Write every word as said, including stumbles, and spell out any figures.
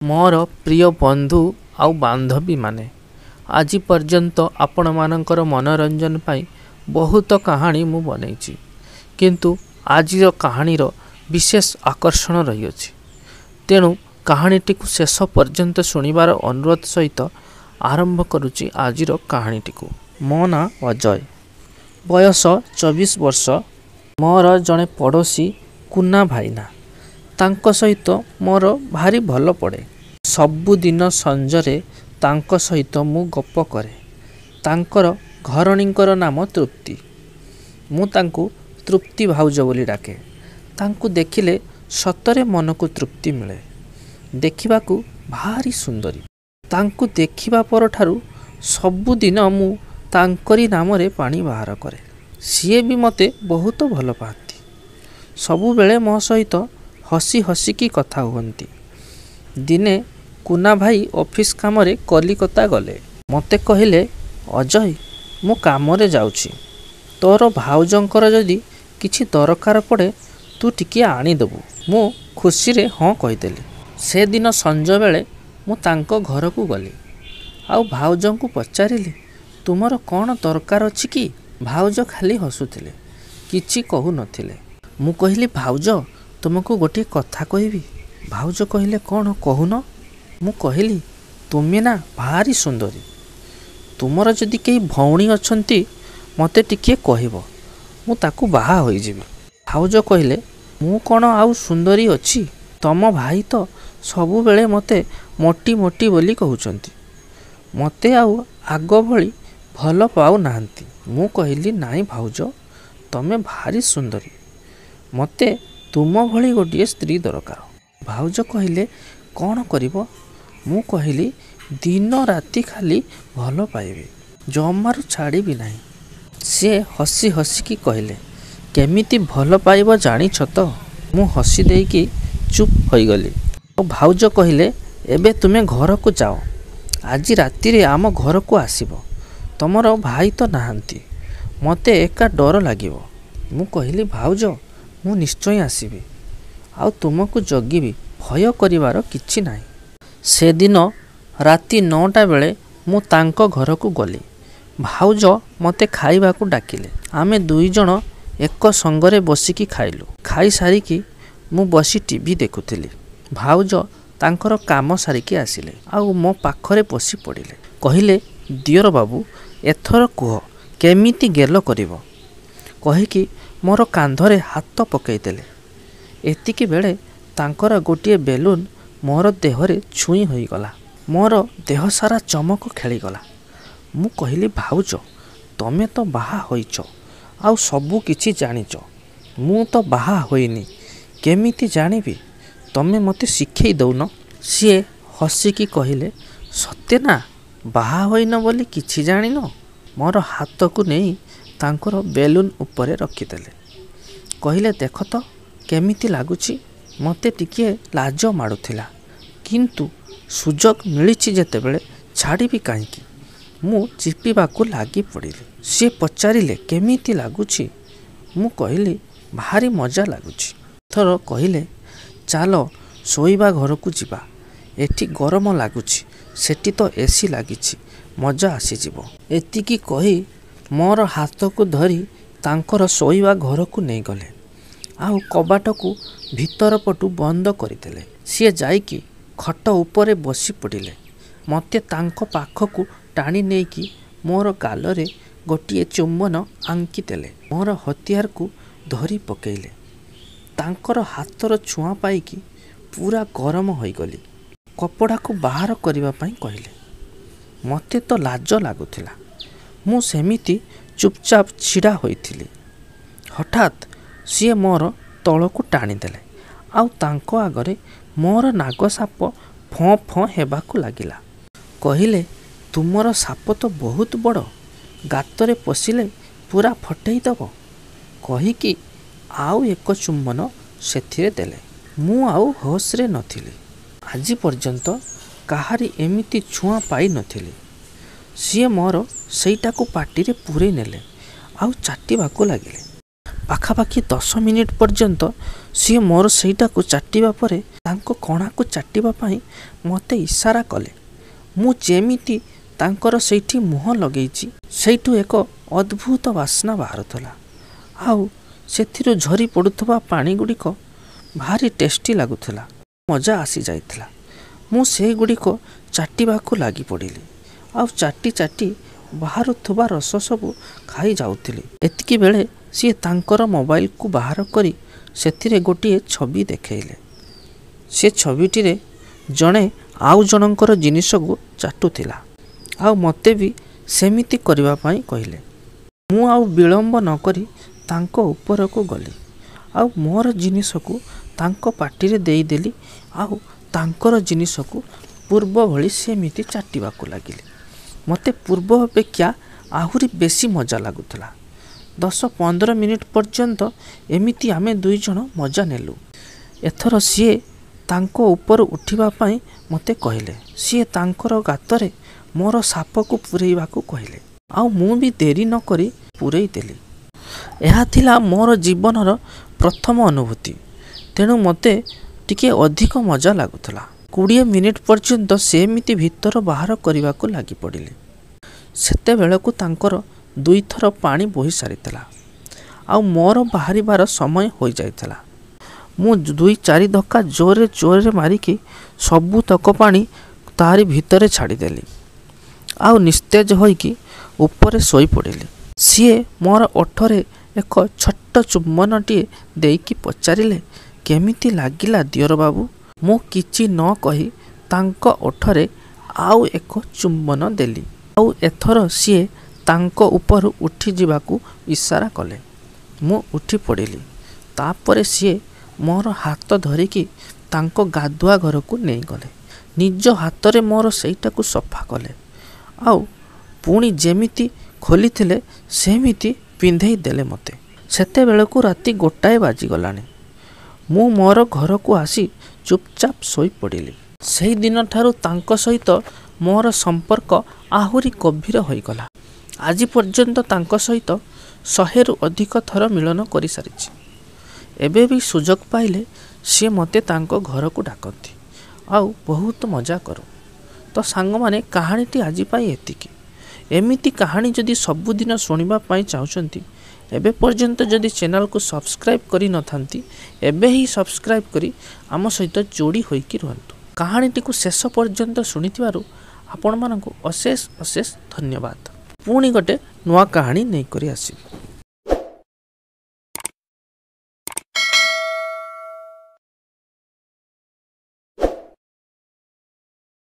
ମୋର ପ୍ରିୟ ବନ୍ଧୁ ଆଉ ବାନ୍ଧବୀମାନେ, ଆଜି ପର୍ଯ୍ୟନ୍ତ ଆପଣମାନଙ୍କର ମନୋରଞ୍ଜନ ପାଇଁ ବହୁତ କାହାଣୀ ମୁଁ ବନେଇଛି, କିନ୍ତୁ ଆଜିର କାହାଣୀର ବିଶେଷ ଆକର୍ଷଣ ରହିଅଛି। ତେଣୁ କାହାଣୀଟିକୁ ଶେଷ ପର୍ଯ୍ୟନ୍ତ ଶୁଣିବାର ଅନୁରୋଧ ସହିତ ଆରମ୍ଭ କରୁଛି ଆଜିର କାହାଣୀଟିକୁ। ମୋ ନାଁ ଅଜୟ, ବୟସ ଚବିଶ ବର୍ଷ। ମୋର ଜଣେ ପଡ଼ୋଶୀ କୁନା ଭାଇନା, ତାଙ୍କ ସହିତ ମୋର ଭାରି ଭଲ ପଡ଼େ। ସବୁଦିନ ସଞ୍ଜରେ ତାଙ୍କ ସହିତ ମୁଁ ଗପ କରେ। ତାଙ୍କର ଘରଣୀଙ୍କର ନାମ ତୃପ୍ତି। ମୁଁ ତାଙ୍କୁ ତୃପ୍ତି ଭାଉଜ ବୋଲି ଡାକେ। ତାଙ୍କୁ ଦେଖିଲେ ସତରେ ମନକୁ ତୃପ୍ତି ମିଳେ। ଦେଖିବାକୁ ଭାରି ସୁନ୍ଦରୀ। ତାଙ୍କୁ ଦେଖିବା ପରଠାରୁ ସବୁଦିନ ମୁଁ ତାଙ୍କରି ନାମରେ ପାଣି ବାହାର କରେ। ସିଏ ବି ମୋତେ ବହୁତ ଭଲ ପାଆନ୍ତି। ସବୁବେଳେ ମୋ ସହିତ ହସି ହସିକି କଥା ହୁଅନ୍ତି। ଦିନେ କୁନା ଭାଇ ଅଫିସ କାମରେ କଲିକତା ଗଲେ। ମୋତେ କହିଲେ, ଅଜୟ, ମୁଁ କାମରେ ଯାଉଛି, ତୋର ଭାଉଜଙ୍କର ଯଦି କିଛି ଦରକାର ପଡ଼େ ତୁ ଟିକିଏ ଆଣିଦେବୁ। ମୁଁ ଖୁସିରେ ହଁ କହିଦେଲି। ସେଦିନ ସଞ୍ଜବେଳେ ମୁଁ ତାଙ୍କ ଘରକୁ ଗଲି ଆଉ ଭାଉଜଙ୍କୁ ପଚାରିଲି, ତୁମର କ'ଣ ଦରକାର ଅଛି କି? ଭାଉଜ ଖାଲି ହସୁଥିଲେ, କିଛି କହୁନଥିଲେ। ମୁଁ କହିଲି, ଭାଉଜ, ତୁମକୁ ଗୋଟିଏ କଥା କହିବି। ଭାଉଜ କହିଲେ, କ'ଣ କହୁନ? ମୁଁ କହିଲି, ତୁମେ ନା ଭାରି ସୁନ୍ଦରୀ, ତୁମର ଯଦି କେହି ଭଉଣୀ ଅଛନ୍ତି ମୋତେ ଟିକିଏ କହିବ, ମୁଁ ତାକୁ ବାହା ହୋଇଯିବି। ଭାଉଜ କହିଲେ, ମୁଁ କ'ଣ ଆଉ ସୁନ୍ଦରୀ ଅଛି? ତମ ଭାଇ ତ ସବୁବେଳେ ମୋତେ ମୋଟି ମୋଟି ବୋଲି କହୁଛନ୍ତି, ମୋତେ ଆଉ ଆଗ ଭଳି ଭଲ ପାଉନାହାନ୍ତି। ମୁଁ କହିଲି, ନାଇଁ ଭାଉଜ, ତମେ ଭାରି ସୁନ୍ଦରୀ, ମୋତେ ତୁମ ଭଳି ଗୋଟିଏ ସ୍ତ୍ରୀ ଦରକାର। ଭାଉଜ କହିଲେ, କ'ଣ କରିବ? ମୁଁ କହିଲି, ଦିନ ରାତି ଖାଲି ଭଲ ପାଇବି, ଜମାରୁ ଛାଡ଼ିବି ନାହିଁ। ସିଏ ହସି ହସିକି କହିଲେ, କେମିତି ଭଲ ପାଇବ ଜାଣିଛ ତ? ମୁଁ ହସି ଦେଇକି ଚୁପ୍ ହୋଇଗଲି। ଆଉ ଭାଉଜ କହିଲେ, ଏବେ ତୁମେ ଘରକୁ ଯାଅ, ଆଜି ରାତିରେ ଆମ ଘରକୁ ଆସିବ, ତମର ଭାଇ ତ ନାହାନ୍ତି, ମୋତେ ଏକା ଡର ଲାଗିବ। ମୁଁ କହିଲି, ଭାଉଜ, ମୁଁ ନିଶ୍ଚୟ ଆସିବି ଆଉ ତୁମକୁ ଜଗିବି, ଭୟ କରିବାର କିଛି ନାହିଁ। ସେଦିନ ରାତି ନଅଟା ବେଳେ ମୁଁ ତାଙ୍କ ଘରକୁ ଗଲି। ଭାଉଜ ମୋତେ ଖାଇବାକୁ ଡାକିଲେ। ଆମେ ଦୁଇ ଜଣ ଏକ ସଙ୍ଗରେ ବସିକି ଖାଇଲୁ। ଖାଇସାରିକି ମୁଁ ବସି ଟିଭି ଦେଖୁଥିଲି। ଭାଉଜ ତାଙ୍କର କାମ ସାରିକି ଆସିଲେ ଆଉ ମୋ ପାଖରେ ବସି ପଡ଼ିଲେ। କହିଲେ, ଦିଅର ବାବୁ, ଏଥର କୁହ କେମିତି ଗେଲ କରିବ? କହିକି ମୋର କାନ୍ଧରେ ହାତ ପକେଇଦେଲେ। ଏତିକି ବେଳେ ତାଙ୍କର ଗୋଟିଏ ବେଲୁନ ମୋର ଦେହରେ ଛୁଇଁ ହୋଇଗଲା। ମୋର ଦେହସାରା ଚମକ ଖେଳିଗଲା। ମୁଁ କହିଲି, ଭାଉଜ, ତମେ ତ ବାହା ହୋଇଛ ଆଉ ସବୁ କିଛି ଜାଣିଛ, ମୁଁ ତ ବାହା ହୋଇନି, କେମିତି ଜାଣିବି? ତମେ ମୋତେ ଶିଖେଇ ଦଉନ। ସିଏ ହସିକି କହିଲେ, ସତେ ନା, ବାହା ହୋଇନ ବୋଲି କିଛି ଜାଣିନ? ମୋର ହାତକୁ ନେଇ ତାଙ୍କର ବେଲୁନ ଉପରେ ରଖିଦେଲେ। କହିଲେ, ଦେଖ ତ କେମିତି ଲାଗୁଛି? ମୋତେ ଟିକିଏ ଲାଜ ମାଡ଼ୁଥିଲା, କିନ୍ତୁ ସୁଯୋଗ ମିଳିଛି ଯେତେବେଳେ ଛାଡ଼ିବି କାହିଁକି? ମୁଁ ଚିପିବାକୁ ଲାଗି ପଡ଼ିଲି। ସିଏ ପଚାରିଲେ, କେମିତି ଲାଗୁଛି? ମୁଁ କହିଲି, ଭାରି ମଜା ଲାଗୁଛି। ଏଥର କହିଲେ, ଚାଲ ଶୋଇବା ଘରକୁ ଯିବା, ଏଠି ଗରମ ଲାଗୁଛି, ସେଠି ତ ଏସି ଲାଗିଛି, ମଜା ଆସିଯିବ। ଏତିକି କହି ମୋର ହାତକୁ ଧରି ତାଙ୍କର ଶୋଇବା ଘରକୁ ନେଇଗଲେ ଆଉ କବାଟକୁ ଭିତର ପଟୁ ବନ୍ଦ କରିଦେଲେ। ସିଏ ଯାଇକି ଖଟ ଉପରେ ବସି ପଡ଼ିଲେ। ମୋତେ ତାଙ୍କ ପାଖକୁ ଟାଣି ନେଇକି ମୋର ଗାଲରେ ଗୋଟିଏ ଚୁମ୍ବନ ଆଙ୍କିଦେଲେ। ମୋର ହତିଆରକୁ ଧରି ପକେଇଲେ। ତାଙ୍କର ହାତର ଛୁଆଁ ପାଇକି ପୁରା ଗରମ ହୋଇଗଲି। କପଡ଼ାକୁ ବାହାର କରିବା ପାଇଁ କହିଲେ। ମୋତେ ତ ଲାଜ ଲାଗୁଥିଲା। ମୁଁ ସେମିତି ଚୁପଚାପ ଛିଡ଼ା ହୋଇଥିଲି। ହଠାତ୍ ସିଏ ମୋର ତଳକୁ ଟାଣିଦେଲେ ଆଉ ତାଙ୍କ ଆଗରେ ମୋର ନାଗ ସାପ ଫଁ ଫଁ ହେବାକୁ ଲାଗିଲା। କହିଲେ, ତୁମର ସାପ ତ ବହୁତ ବଡ଼, ଗାତରେ ପଶିଲେ ପୁରା ଫଟେଇ ଦେବ। କହିକି ଆଉ ଏକ ଚୁମ୍ବନ ସେଥିରେ ଦେଲେ। ମୁଁ ଆଉ ହୋସରେ ନଥିଲି। ଆଜି ପର୍ଯ୍ୟନ୍ତ କାହାରି ଏମିତି ଛୁଆଁ ପାଇନଥିଲି। ସିଏ ମୋର ସେଇଟାକୁ ପାଟିରେ ପୂରେଇ ନେଲେ ଆଉ ଚାଟିବାକୁ ଲାଗିଲେ। ପାଖାପାଖି ଦଶ ମିନିଟ୍ ପର୍ଯ୍ୟନ୍ତ ସିଏ ମୋର ସେଇଟାକୁ ଚାଟିବା ପରେ ତାଙ୍କ କଣାକୁ ଚାଟିବା ପାଇଁ ମୋତେ ଇସାରା କଲେ। ମୁଁ ଯେମିତି ତାଙ୍କର ସେଇଠି ମୁହଁ ଲଗେଇଛି, ସେଇଠୁ ଏକ ଅଦ୍ଭୁତ ବାସ୍ନା ବାହାରୁଥିଲା ଆଉ ସେଥିରୁ ଝରି ପଡ଼ୁଥିବା ପାଣି ଗୁଡ଼ିକ ଭାରି ଟେଷ୍ଟି ଲାଗୁଥିଲା। ମଜା ଆସିଯାଇଥିଲା। ମୁଁ ସେଗୁଡ଼ିକ ଚାଟିବାକୁ ଲାଗିପଡ଼ିଲି ଆଉ ଚାଟି ଚାଟି ବାହାରୁଥିବା ରସ ସବୁ ଖାଇଯାଉଥିଲି। ଏତିକି ବେଳେ ସିଏ ତାଙ୍କର ମୋବାଇଲକୁ ବାହାର କରି ସେଥିରେ ଗୋଟିଏ ଛବି ଦେଖେଇଲେ। ସେ ଛବିଟିରେ ଜଣେ ଆଉ ଜଣଙ୍କର ଜିନିଷକୁ ଚାଟୁଥିଲା ଆଉ ମୋତେ ବି ସେମିତି କରିବା ପାଇଁ କହିଲେ। ମୁଁ ଆଉ ବିଳମ୍ବ ନକରି ତାଙ୍କ ଉପରକୁ ଗଲି ଆଉ ମୋର ଜିନିଷକୁ ତାଙ୍କ ପାଟିରେ ଦେଇଦେଲି ଆଉ ତାଙ୍କର ଜିନିଷକୁ ପୂର୍ବ ଭଳି ସେମିତି ଚାଟିବାକୁ ଲାଗିଲି। ମୋତେ ପୂର୍ବ ଅପେକ୍ଷା ଆହୁରି ବେଶୀ ମଜା ଲାଗୁଥିଲା। ଦଶ ପନ୍ଦର ମିନିଟ୍ ପର୍ଯ୍ୟନ୍ତ ଏମିତି ଆମେ ଦୁଇ ଜଣ ମଜା ନେଲୁ। ଏଥର ସିଏ ତାଙ୍କ ଉପରୁ ଉଠିବା ପାଇଁ ମୋତେ କହିଲେ। ସିଏ ତାଙ୍କର ଗାତରେ ମୋର ସାପକୁ ପୂରେଇବାକୁ କହିଲେ ଆଉ ମୁଁ ବି ଡେରି ନକରି ପୂରେଇ ଦେଲି। ଏହା ଥିଲା ମୋର ଜୀବନର ପ୍ରଥମ ଅନୁଭୂତି, ତେଣୁ ମୋତେ ଟିକେ ଅଧିକ ମଜା ଲାଗୁଥିଲା। କୋଡ଼ିଏ ମିନିଟ୍ ପର୍ଯ୍ୟନ୍ତ ସେମିତି ଭିତର ବାହାର କରିବାକୁ ଲାଗିପଡ଼ିଲି। ସେତେବେଳକୁ ତାଙ୍କର ଦୁଇଥର ପାଣି ବୋହି ସାରିଥିଲା ଆଉ ମୋର ବାହାରିବାର ସମୟ ହୋଇଯାଇଥିଲା। ମୁଁ ଦୁଇ ଚାରି ଧକ୍କା ଜୋରରେ ଜୋରରେ ମାରିକି ସବୁତକ ପାଣି ତାରି ଭିତରେ ଛାଡ଼ିଦେଲି ଆଉ ନିସ୍ତେଜ ହୋଇକି ଉପରେ ଶୋଇପଡ଼ିଲି। ସିଏ ମୋର ଓଠରେ ଏକ ଛୋଟ ଚୁମ୍ବନଟିଏ ଦେଇକି ପଚାରିଲେ, କେମିତି ଲାଗିଲା ଦିଅର ବାବୁ? ମୁଁ କିଛି ନ କହି ତାଙ୍କ ଓଠରେ ଆଉ ଏକ ଚୁମ୍ବନ ଦେଲି ଆଉ ଏଥର ସିଏ ତାଙ୍କ ଉପରୁ ଉଠିଯିବାକୁ ଇସାରା କଲେ। ମୁଁ ଉଠି ପଡ଼ିଲି। ତାପରେ ସିଏ ମୋର ହାତ ଧରିକି ତାଙ୍କ ଗାଧୁଆ ଘରକୁ ନେଇଗଲେ। ନିଜ ହାତରେ ମୋର ସେଇଟାକୁ ସଫା କଲେ ଆଉ ପୁଣି ଯେମିତି ଖୋଲିଥିଲେ ସେମିତି ପିନ୍ଧେଇ ଦେଲେ ମୋତେ। ସେତେବେଳକୁ ରାତି ଗୋଟାଏ ବାଜିଗଲାଣି। ମୁଁ ମୋର ଘରକୁ ଆସି ଚୁପଚାପ ଶୋଇପଡ଼ିଲି। ସେଇଦିନଠାରୁ ତାଙ୍କ ସହିତ ମୋର ସମ୍ପର୍କ ଆହୁରି ଗଭୀର ହୋଇଗଲା। ଆଜି ପର୍ଯ୍ୟନ୍ତ ତାଙ୍କ ସହିତ ଶହେରୁ ଅଧିକ ଥର ମିଳନ କରିସାରିଛି। ଏବେ ବି ସୁଯୋଗ ପାଇଲେ ସିଏ ମୋତେ ତାଙ୍କ ଘରକୁ ଡାକନ୍ତି ଆଉ ବହୁତ ମଜା କରୁ। ତ ସାଙ୍ଗମାନେ, କାହାଣୀଟି ଆଜି ପାଇଁ ଏତିକି। ଏମିତି କାହାଣୀ ଯଦି ସବୁଦିନ ଶୁଣିବା ପାଇଁ ଚାହୁଁଛନ୍ତି, ଏବେ ପର୍ଯ୍ୟନ୍ତ ଯଦି ଚ୍ୟାନେଲକୁ ସବସ୍କ୍ରାଇବ୍ କରିନଥାନ୍ତି, ଏବେ ହିଁ ସବସ୍କ୍ରାଇବ୍ କରି ଆମ ସହିତ ଯୋଡ଼ି ହୋଇକି ରୁହନ୍ତୁ। କାହାଣୀଟିକୁ ଶେଷ ପର୍ଯ୍ୟନ୍ତ ଶୁଣିଥିବାରୁ ଆପଣମାନଙ୍କୁ ଅଶେଷ ଅଶେଷ ଧନ୍ୟବାଦ। ପୁଣି ଗୋଟେ ନୂଆ କାହାଣୀ ନେଇକରି ଆସିବି।